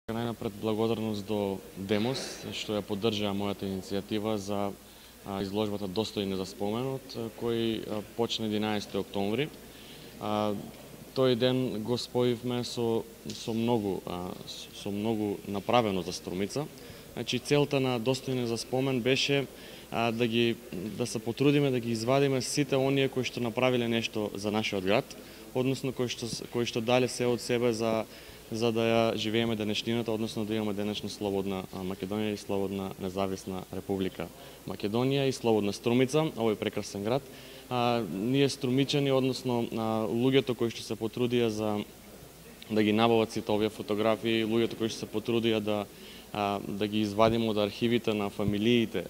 Најнапред благодарност до Демос што ја поддржаа мојата иницијатива за изложбата Достојни за споменот, кој почна 11 октомври. Тој ден го споивме со многу направено за Струмица. Значи целта на Достојни за спомен беше да се потрудиме да ги извадиме сите оние кои што направиле нешто за нашиот град, односно кои што дале се од себе за да ја живееме денешнината, односно да имаме денешна слободна Македонија и слободна независна Република Македонија и слободна Струмица, овој прекрасен град. Ние струмичани, односно луѓето кои што се потрудија да ги набават сите овие фотографии, луѓето кои што се потрудија да ги извадиме од архивите на фамилиите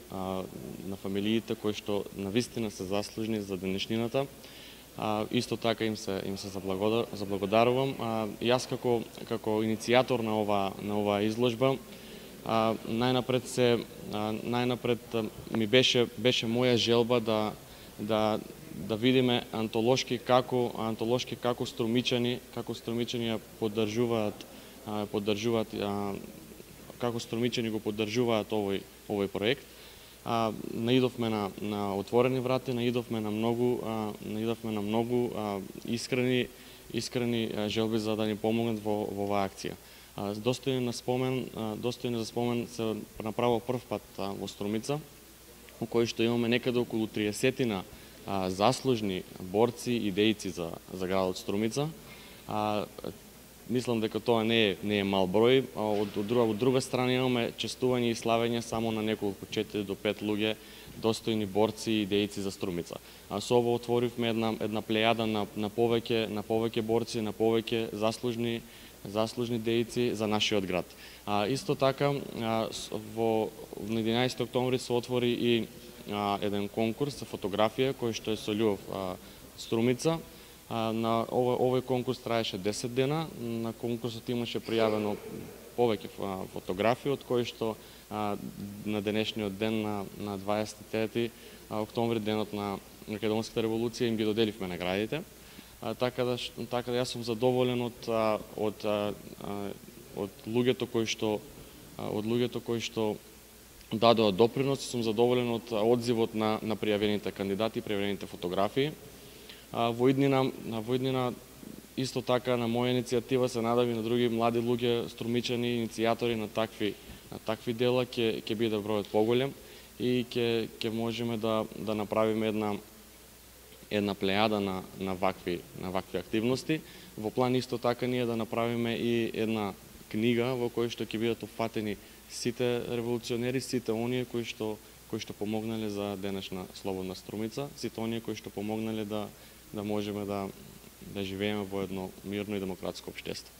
кои што навистина се заслужни за денешнината. Исто така им се заблагодарувам. Јас како иницијатор на оваа изложба, најнапред ми беше моја желба да видиме антолошки како струмичани ја поддржуваат како струмичани го поддржуваат овој проект. Наидовме на отворени врати, наидовме на многу искрени желби за да ни помогнат во оваа акција. Достојни за спомен се направил прв пат во Струмица, во кој што имаме некаде околу 30 заслужни борци и дејци за градот Струмица. Мислам дека тоа не е мал број. Од друга страна имаме честување и славење само на неколку 4 до 5 луѓе достојни борци и дејци за Струмица. Со ово отворивме една плејада на повеќе борци, на повеќе заслужни дејци за нашиот град. Исто така во 11 октомври се отвори и еден конкурс за фотографија кој што е со љубов Струмица. На овој конкурс траеше 10 дена. На конкурсот имаше пријавено повеќе фотографии, од кои што на денешниот ден на 23 октомври, денот на Македонската револуција, им ги доделивме наградите. Така да јас сум задоволен од луѓето кои што дадоа допринос, сум задоволен од одзивот на пријавените кандидати и пријавените фотографии. Во иднина исто така на моја иницијатива се надам и на други млади луѓе, струмичани, иницијатори на такви дела ќе биде бројот поголем и ќе можеме да направиме една плејада на вакви активности. Во план исто така ние да направиме и една книга во која што ќе бидат опфатени сите револуционери, сите оние кои што помогнале за денешна слободна Струмица, сите оние кои што помогнале да можеме да живееме во едно мирно и демократско општество.